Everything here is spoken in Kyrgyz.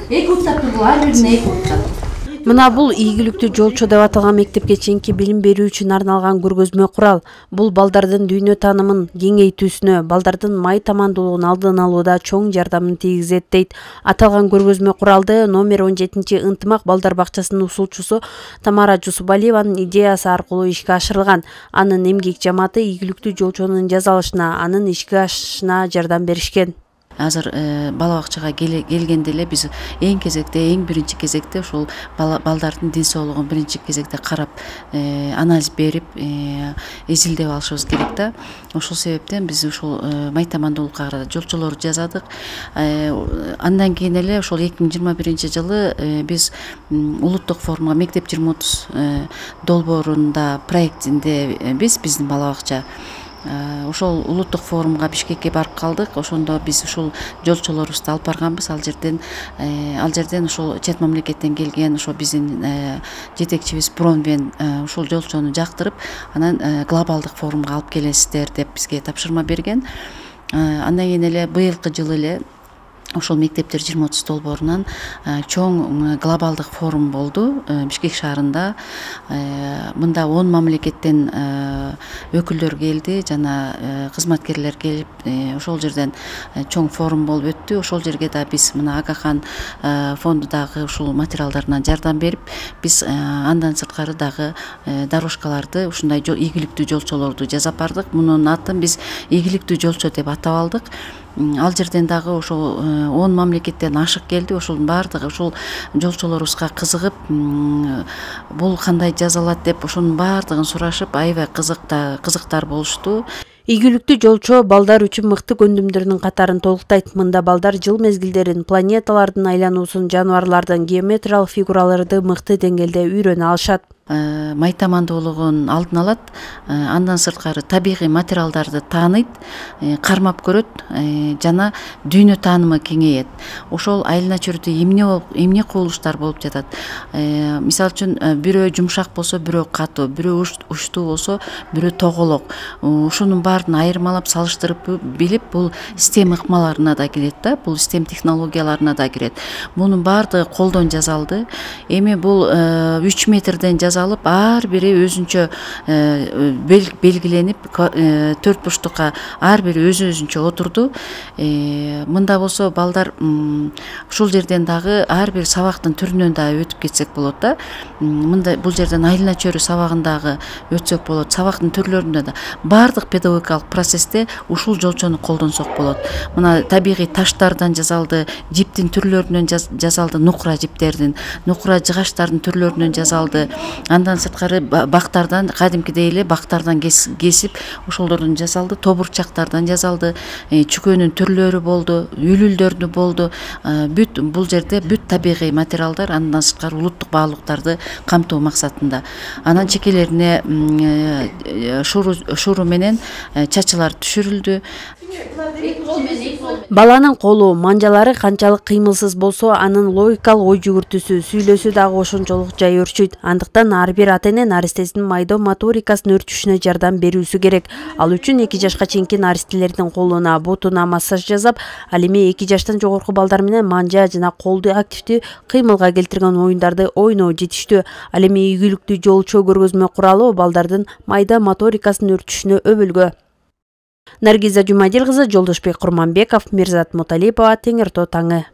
2 уртап бул ар бирине 2 уртап. Мына бул ийгиликтүү жолчу деп аталган мектепке чейинки билим берүү үчүн арналган көргөзмө курал. Бул балдардын дүйнө таанымын кеңейтүүсүнө, балдардын май тамандуулугун алдын алууда чоң жардамын тийгизет дейт. Аталган көргөзмө куралды номер 17 ынтымак балдар бакчасынын усулчусу Тамара Жусупалиеванын идеясы аркылуу ишке ашырылган. Анын эмгек жамааты ийгиликтүү жолчонун жасалышына, анын ишке ашышына жардам беришкен. Азыр бала бакчага келгенде эле биз эң биринчи кезекте ушул балдардын ден соолугун биринчи кезекте карап, анализ берип, изилдеп алышыбыз керек да. Ошол себептен биз ушул май тамандуулукка карата жолчолор жасадык. Андан кийин эле ошол 2021-жылы биз улуттук форумга мектеп 2030 долбоорунда проектинде биздин бала бакча ошол улуттук форумга Бишкекке барып калдык. Ошондо биз ушул жолчолорубузду алып барганбыз. Ал жерден ушул чет мамлекеттен келген ошо биздин жетекчибиз Бронвен ушул жолчону жактырып, анан глобалдык форумга алып келесиздер деп бизге тапшырма берген. Андан кийин эле быйылкы жылы эле ошол мектептер 2030 долбоорунан чоң глобалдык форум болду Бишкек шаарында. Мында 10 мамлекеттен өкүлдөр келди жана кызматкерлер келип, ошол жерден чоң форум болуп өттү. Ошол жерге да биз мына Агахан фондудагы ушул материалдарынан жардам берип, биз андан сырткары дагы дорожкаларды, ушундай ийгиликтүү жолчолорду жасап бардык. Мунун атын биз ийгиликтүү жолчу деп атап алдык. Ал жерден дагы ошол 10 мамлекеттен ашык келди. Ошолдун баардыгы ушул жолчолорубузга кызыгып, бул кандай жасалат деп ошонун баардыгын сурашып, аябай кызыктар болушту. Ийгиликтүү жолчу балдар үчүн мыкты көндүмдөрдүн катарын толуктайт. Мында балдар жыл мезгилдерин, планеталардын айлануусун, жаныбарлардын геометриялык фигураларды мыкты деңгээлде үйрөнө алышат. Май тамандуулугун алдын алат, андан сырткары табигый материалдарды тааныйт, кармап көрөт жана дүйнө таанымы кеңейет. Ошол айылына чөйрөдө эмне кубулуштар болуп жатат. Мисалы үчүн бирөө жумшак болсо, бирөө катуу, бирөө учтуу болсо, бирөө тоголок. Ушунун баарын айырмалап салыштырып билип, бул STEM ыкмаларына да кирет да, бул STEM технологияларына да кирет. Мунун баардыгы колдон жасалды. Эми бул 3 метрден алып, ар бири өзүнчө белгиленип, 4 бурчтукка ар бири өзүнчө отурду. Мында болсо балдар ушул жерден дагы ар бир сабактын түрүнөн да өтүп кетсек болот да. Мында бул жерден айылына чөйрө сабагын дагы өтсөк болот. Сабактын түрлөрүндө да баардык педагогикалык процессте ушул жолчону колдонсок болот. Мына табигый таштардан жасалды, жиптин түрлөрүнөн жасалды, нукура жиптердин, нукура жыгачтардын түрлөрүнөн жасалды. Андан сырткары бактардан, кадимкидей эле бактардан кесип, ошолордон жасалды, тобурчактардан жасалды, чүкөнүн түрлөрү болду, үлүлдөрдү болду. Бүт бул жерде бүт табигый материалдар, андан сырткары улуттук баалуулуктарды камтоо максатында. Анан чекелерине шуру менен чачылар түшүрүлдү. Баланын колу, манжалары канчалык кыймылсыз болсо, анын логикалык ой жүгүртүүсү, сүйлөсү дагы ошончолук жай өрчүйт. Андыктан ар бир ата-эне наристесинин майда моторикасын өрчүшүнө жардам берүүсү керек. Ал үчүн 2 жашка чейинки наристелердин колуна, бутуна массаж жасап, ал эми 2 жаштан жогорку балдар менен манжа жана колду активдүү кыймылга келтирген оюндарды ойноо жетиштүү. Ал эми ийгиликтүү жолчу көргөзмө куралы балдардын майда моторикасын өрчүшүнө өбөлгө. Наргиза Жумадил кызы, Жолдошбек Курманбеков, Мирзат Муталипова, Теңир Тоо таңы.